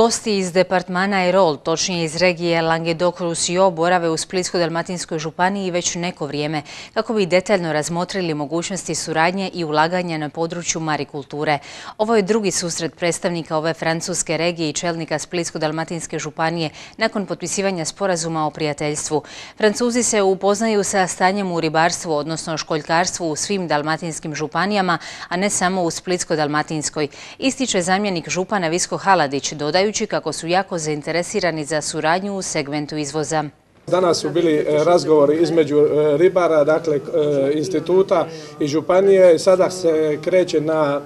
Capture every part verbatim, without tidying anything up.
Gosti iz departmana Airol, točnije iz regije Languedoc-Roussillon, borave u Splitsko-dalmatinskoj županiji već neko vrijeme kako bi detaljno razmotrili mogućnosti suradnje i ulaganja na području marikulture. Ovo je drugi susret predstavnika ove francuske regije i čelnika Splitsko-dalmatinske županije nakon potpisivanja sporazuma o prijateljstvu. Francuzi se upoznaju sa stanjem u ribarstvu, odnosno školjkarstvu u svim dalmatinskim županijama, a ne samo u Splitsko-dalmatinskoj, ističe zamjenik župana Visko Haladić, dodajući kako su jako zainteresirani za suradnju u segmentu izvoza. Danas su bili razgovori između ribara, dakle instituta i županije. Sada se kreće na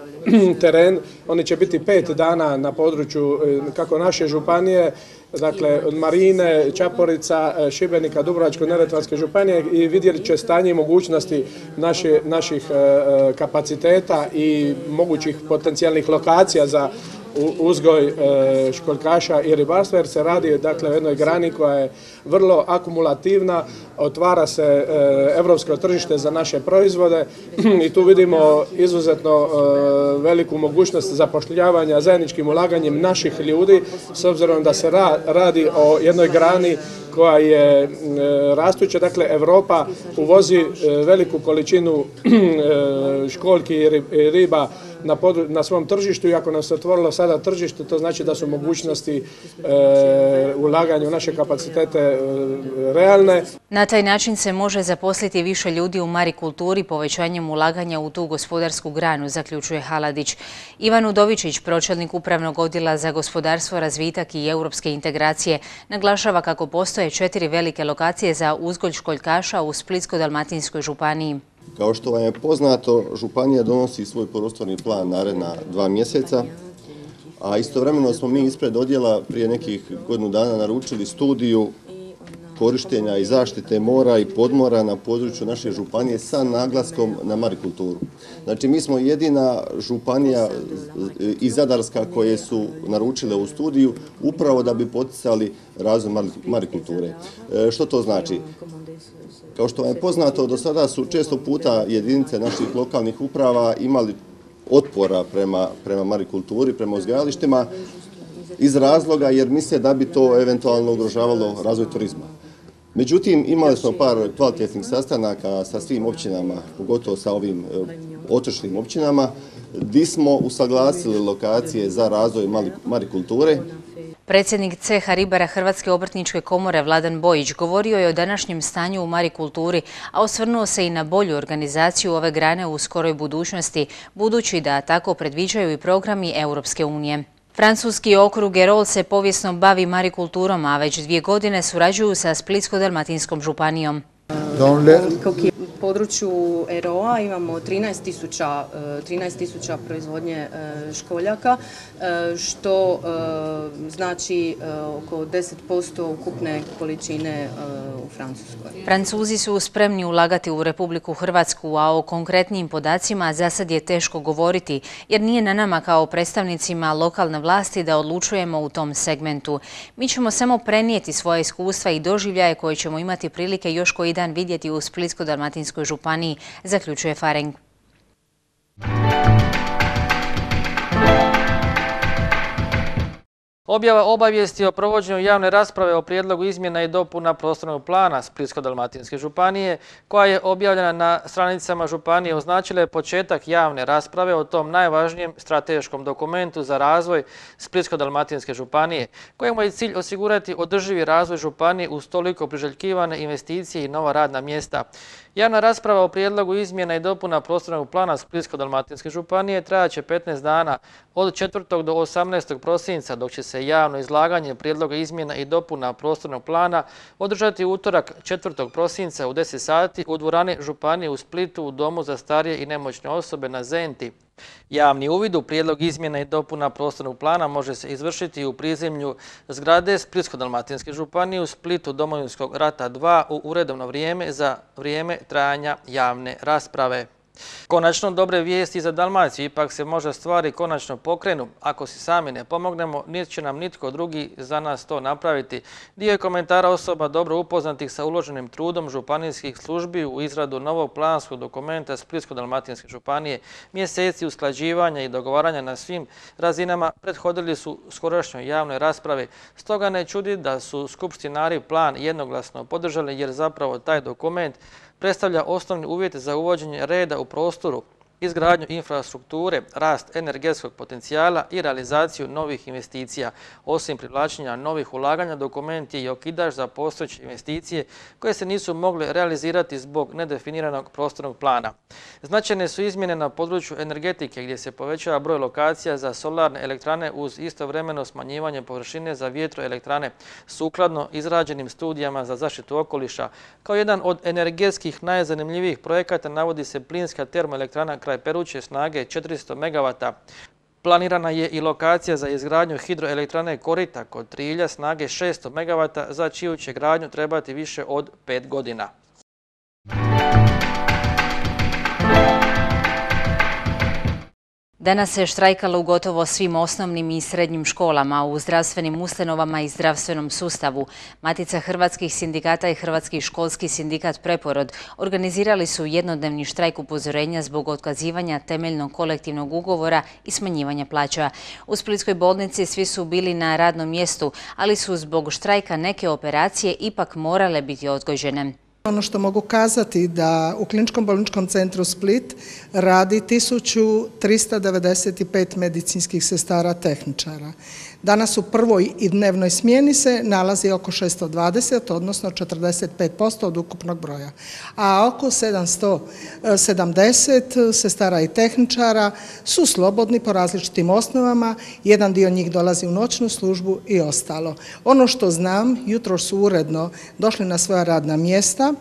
teren. Oni će biti pet dana na području kako naše županije, dakle od Marine, Čaporica, Šibenika, Dubrovačko-neretvanske županije i vidjeli će stanje i mogućnosti naše, naših kapaciteta i mogućih potencijalnih lokacija za uzgoj školjkaša i ribarstva, jer se radi dakle o jednoj grani koja je vrlo akumulativna, otvara se evropsko tržište za naše proizvode i tu vidimo izuzetno veliku mogućnost zapošljavanja zajedničkim ulaganjem naših ljudi, s obzirom da se radi o jednoj grani koja je rastuća. Dakle, Europa uvozi veliku količinu školjki i riba na, na svom tržištu i ako nam se otvorilo sada tržište, to znači da su mogućnosti e, ulaganja u naše kapacitete e, realne. Na taj način se može zaposliti više ljudi u marikulturi povećanjem ulaganja u tu gospodarsku granu, zaključuje Haladić. Ivan Udovičić, pročelnik Upravnog odjela za gospodarstvo, razvitak i europske integracije, naglašava kako postoje četiri velike lokacije za uzgoj školjkaša u Splitsko-dalmatinskoj županiji. Kao što vam je poznato, županija donosi svoj prostorni plan naredna dva mjeseca, a istovremeno smo mi ispred odjela prije nekih godinu dana naručili studiju korištenja i zaštite mora i podmora na području naše županije sa naglaskom na marikulturu. Znači, mi smo jedina županija i zadarska koje su naručile u studiju upravo da bi poticali razvoj marikulture. Što to znači? Kao što vam je poznato, do sada su često puta jedinice naših lokalnih uprava imali otpora prema, prema marikulturi, prema uzgajalištima iz razloga jer misle da bi to eventualno ugrožavalo razvoj turizma. Međutim, imali smo par kvalitetnih sastanaka sa svim općinama, pogotovo sa ovim otočnim općinama, gdje smo usaglasili lokacije za razvoj marikulture. Predsjednik ceha ribara Hrvatske obrtničke komore Vladan Bojić govorio je o današnjem stanju u marikulturi, a osvrnuo se i na bolju organizaciju ove grane u skoroj budućnosti, budući da tako predviđaju i programi Europske unije. Francuski okrug Airol se povijesno bavi marikulturom, a već dvije godine surađuju sa Splitsko-dalmatinskom županijom. U području Airola imamo trinaest tisuća proizvodnje školjaka, što znači oko deset posto ukupne količine u Francuskoj. Francuzi su spremni ulagati u Republiku Hrvatsku, a o konkretnim podacima za sad je teško govoriti, jer nije na nama kao predstavnicima lokalne vlasti da odlučujemo u tom segmentu. Mi ćemo samo prenijeti svoje iskustva i doživljaje koje ćemo imati prilike još koji dan vidjeti u Splitsko-dalmatinskoj županiji, zaključuje Fareng. Objava obavijesti o provođenju javne rasprave o prijedlogu izmjena i dopuna prostornog plana Splitsko-dalmatinske županije, koja je objavljena na stranicama županije, označila je početak javne rasprave o tom najvažnijem strateškom dokumentu za razvoj Splitsko-dalmatinske županije, kojemu je cilj osigurati održivi razvoj županije uz toliko priželjkivane investicije i nova radna mjesta. Javna rasprava o prijedlogu izmjena i dopuna prostornog plana Splitsko-dalmatinske županije trajaće petnaest dana od četvrtog do osamnaestog prosinca, dok će se javno izlaganje prijedloga izmjena i dopuna prostornog plana održati utorak četvrtog prosinca u deset sati u dvorani županije u Splitu u Domu za starije i nemoćne osobe na Zenti. Javni uvid u prijedlog izmjena i dopuna prostornog plana može se izvršiti u prizemlju zgrade Splitsko-dalmatinske županije u Splitu Domovinskog rata dva u uredovno vrijeme za vrijeme trajanja javne rasprave. Konačno, dobre vijesti za Dalmaciju, ipak se može stvari konačno pokrenu. Ako si sami ne pomognemo, niti će nam nitko drugi za nas to napraviti. Dio je komentara osoba dobro upoznatih sa uloženim trudom županijskih službi u izradu novog planskog dokumenta Splitsko-dalmatinske županije. Mjeseci usklađivanja i dogovaranja na svim razinama prethodili su skorašnjoj javnoj raspravi. Stoga ne čudi da su skupštinari plan jednoglasno podržali, jer zapravo taj dokument predstavlja osnovni uvjet za uvođenje reda u prostoru, izgradnju infrastrukture, rast energetskog potencijala i realizaciju novih investicija. Osim privlačenja novih ulaganja, dokument je i okidač za postojeće investicije koje se nisu mogle realizirati zbog nedefiniranog prostornog plana. Značajne su izmjene na području energetike, gdje se povećava broj lokacija za solarne elektrane uz istovremeno smanjivanje površine za vjetroelektrane, sukladno izrađenim studijama za zaštitu okoliša. Kao jedan od energetskih najzanimljivijih projekata navodi se plinska termoelektrana kraj Peruće snage četiristo megavata. Planirana je i lokacija za izgradnju hidroelektrane Korita kod Trilja snage šesto megavata, za čiju će gradnju trebati više od pet godina. Danas se štrajkalo u gotovo svim osnovnim i srednjim školama, u zdravstvenim ustanovama i zdravstvenom sustavu. Matica hrvatskih sindikata i Hrvatski školski sindikat Preporod organizirali su jednodnevni štrajk upozorenja zbog otkazivanja temeljnog kolektivnog ugovora i smanjivanja plaća. U Splitskoj bolnici svi su bili na radnom mjestu, ali su zbog štrajka neke operacije ipak morale biti odgođene. Ono što mogu kazati da u Kliničkom bolničkom centru Split radi tisuću trista devedeset pet medicinskih sestara tehničara. Danas u prvoj i dnevnoj smjeni se nalazi oko šesto dvadeset, odnosno četrdeset pet posto od ukupnog broja. A oko sedamsto sedamdeset sestara i tehničara su slobodni po različitim osnovama. Jedan dio njih dolazi u noćnu službu i ostalo. Ono što znam, jutro su uredno došli na svoja radna mjesta,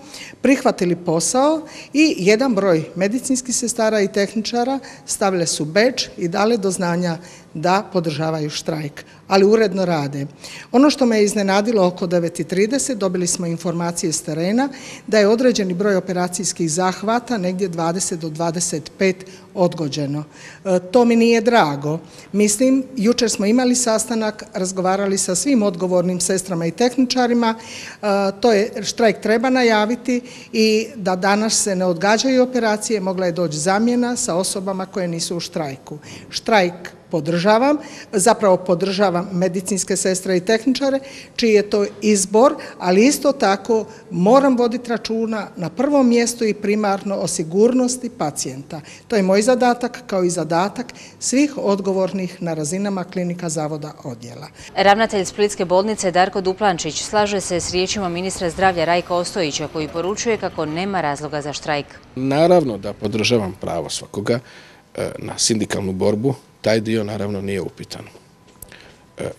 prihvatili posao i jedan broj medicinskih sestara i tehničara stavile su bedž i dale do znanja da podržavaju štrajk, ali uredno rade. Ono što me je iznenadilo, oko devet i trideset dobili smo informacije s terena da je određeni broj operacijskih zahvata, negdje dvadeset do dvadeset pet, odgođeno. E, to mi nije drago. Mislim, jučer smo imali sastanak, razgovarali sa svim odgovornim sestrama i tehničarima, e, to je štrajk treba najaviti i da danas se ne odgađaju operacije, mogla je doći zamjena sa osobama koje nisu u štrajku. Štrajk podržavam, zapravo podržavam medicinske sestre i tehničare, čiji je to izbor, ali isto tako moram voditi računa na prvom mjestu i primarno o sigurnosti pacijenta. To je moj zadatak, kao i zadatak svih odgovornih na razinama klinika, zavoda, odjela. Ravnatelj Splitske bolnice Darko Duplančić slaže se s riječima ministra zdravlja Rajka Ostojića, koji poručuje kako nema razloga za štrajk. Naravno da podržavam pravo svakoga na sindikalnu borbu. Taj dio naravno nije upitan.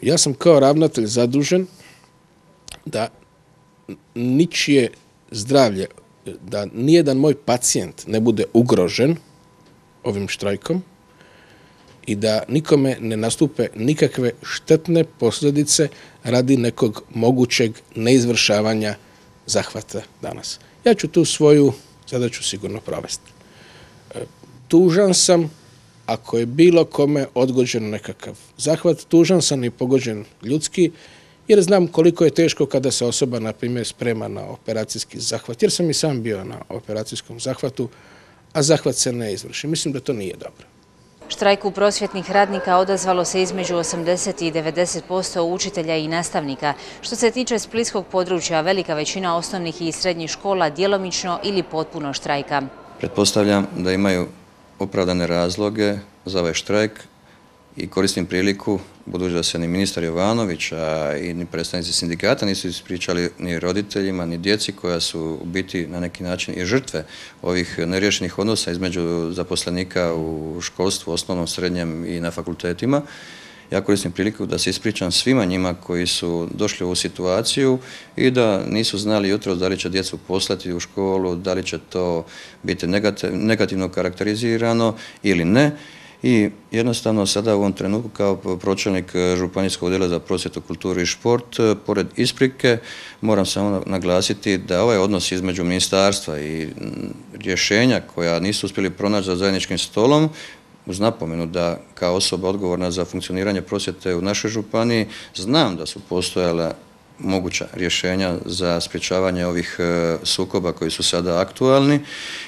Ja sam kao ravnatelj zadužen da ničije zdravlje, da nijedan moj pacijent ne bude ugrožen ovim štrajkom i da nikome ne nastupe nikakve štetne posljedice radi nekog mogućeg neizvršavanja zahvata danas. Ja ću tu svoju zadaću sigurno provesti. Tužan sam ako je bilo kome odgođen nekakav zahvat, tužan sam i pogođen ljudski, jer znam koliko je teško kada se osoba, na primjer, sprema na operacijski zahvat, jer sam i sam bio na operacijskom zahvatu, a zahvat se ne izvrši. Mislim da to nije dobro. Štrajku prosvjetnih radnika odazvalo se između osamdeset i devedeset posto učitelja i nastavnika. Što se tiče splitskog područja, velika većina osnovnih i srednjih škola djelomično ili potpuno štrajka. Pretpostavljam da imaju opravdane razloge za ovaj štrajk i koristim priliku, budući da se ni ministar Jovanović, a i ni predstavnici sindikata nisu ispričali ni roditeljima, ni djeci koja su u biti na neki način i žrtve ovih neriješenih odnosa između zaposlenika u školstvu, osnovnom, srednjem i na fakultetima. Ja koristim priliku da se ispričam svima njima koji su došli u ovu situaciju i da nisu znali jutro da li će djecu poslati u školu, da li će to biti negativno karakterizirano ili ne. I jednostavno sada u ovom trenutku kao pročelnik Županijskog odjela za prosvjetu, kulturu i šport, pored isprike, moram samo naglasiti da ovaj odnos između ministarstva i rješenja koja nisu uspjeli pronaći za zajedničkim stolom, uz napomenu da kao osoba odgovorna za funkcioniranje prosvjete u našoj županiji, znam da su postojala moguća rješenja za sprječavanje ovih sukoba koji su sada aktualni,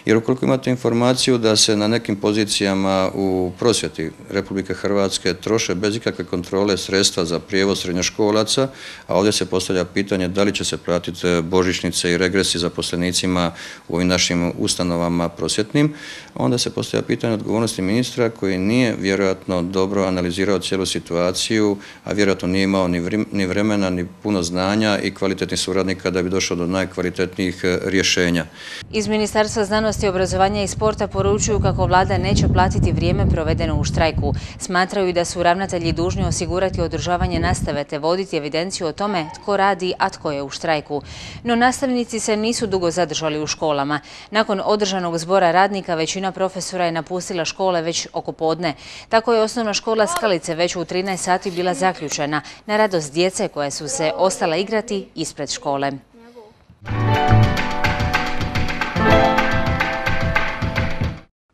jer ukoliko imate informaciju da se na nekim pozicijama u prosvjeti Republike Hrvatske troše bez ikakve kontrole sredstva za prijevoz srednjoškolaca, a ovdje se postavlja pitanje da li će se platiti božićnice i regresi zaposlenicima u ovim našim ustanovama prosvjetnim, onda se postavlja pitanje odgovornosti ministra koji nije vjerojatno dobro analizirao cijelu situaciju, a vjerojatno nije imao ni vremena ni puno znanja i kvalitetnih suradnika da bi došao do najkvalitetnijih rješenja. Iz Ministarstva znanosti, obrazovanja i sporta poručuju kako vlada neće platiti vrijeme provedeno u štrajku. Smatraju da su ravnatelji dužni osigurati održavanje nastave te voditi evidenciju o tome tko radi, a tko je u štrajku. No nastavnici se nisu dugo zadržali u školama. Nakon održanog zbora radnika većina profesora je napustila škole već oko podne. Tako je osnovna škola Skalice već u trinaest sati bila zaključena na radost djece koje su se ostala igrati ispred škole.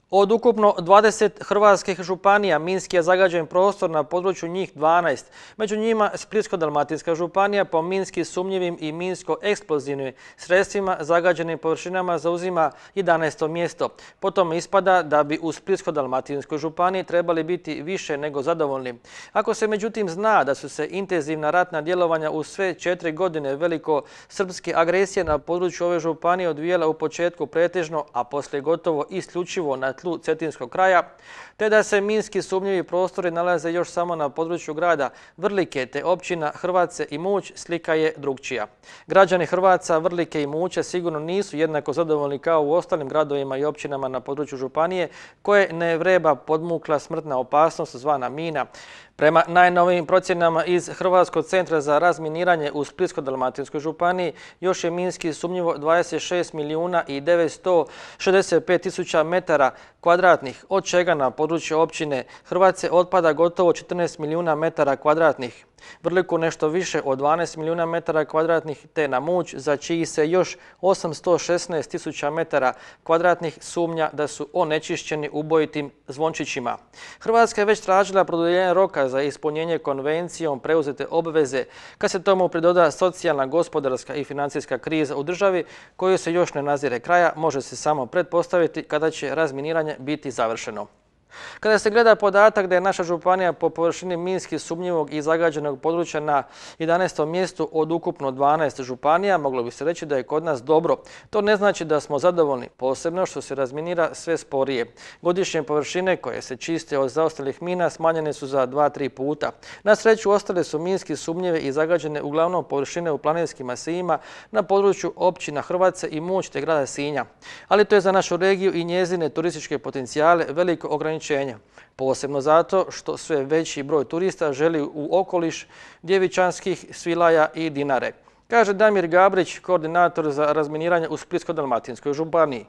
Od ukupno dvadeset hrvatskih županija minski je zagađen prostor na području njih dvanaest. Među njima Splitsko-dalmatinska županija po minski sumnjivim i minsko-eksplozivnim sredstvima zagađenim površinama zauzima jedanaesto mjesto. Potom ispada da bi u Splitsko-dalmatinskoj županiji trebali biti više nego zadovoljni. Ako se međutim zna da su se intenzivna ratna djelovanja u sve četiri godine veliko-srpske agresije na području ove županije odvijela u početku pretežno, a poslije gotovo isključivo na tlu cetinskog kraja, te da se minski sumnjivi prostori nalaze još samo na području grada Vrlike te općina Hrvace i Muć, slika je drukčija. Građani Hrvaca, Vrlike i Muće sigurno nisu jednako zadovoljni kao u ostalim gradovima i općinama na području županije koje ne vreba podmukla smrtna opasnost zvana mina. Prema najnovijim procjenama iz Hrvatskog centra za razminiranje u Splitsko-dalmatinskoj županiji još je minski sumnjivo dvadeset šest milijuna i devetsto šezdeset pet tisuća metara kvadratnih, od čega na području općine Hrvace otpada gotovo četrnaest milijuna metara kvadratnih. Vrliku nešto više od dvanaest milijuna metara kvadratnih te na Muć, za čiji se još osamsto šesnaest tisuća metara kvadratnih sumnja da su onečišćeni ubojitim zvončićima. Hrvatska je već tražila produljenje roka za ispunjenje konvencijom preuzete obveze, kad se tomu pridoda socijalna, gospodarska i financijska kriza u državi koju se još ne nazire kraja, može se samo pretpostaviti kada će razminiranje biti završeno. Kada se gleda podatak da je naša županija po površini minski sumnjivog i zagađenog područja na jedanaestom mjestu od ukupno dvanaest županija, moglo bi se reći da je kod nas dobro. To ne znači da smo zadovoljni, posebno što se razminira sve sporije. Godišnje površine koje se čiste od zaostalih mina smanjene su za dva do tri puta. Na sreću ostale su minski sumnjive i zagađene uglavnom površine u planinskim masivima na području općina Hrvace i Muć te grada Sinja. Ali to je za našu regiju i njezine turističke potencijale veliko ograničenje. Posebno zato što sve veći broj turista želi u okoliš Djevičanskih, Svilaja i Dinare, kaže Damir Gabrić, koordinator za razminiranje u Splitsko-dalmatinskoj županiji.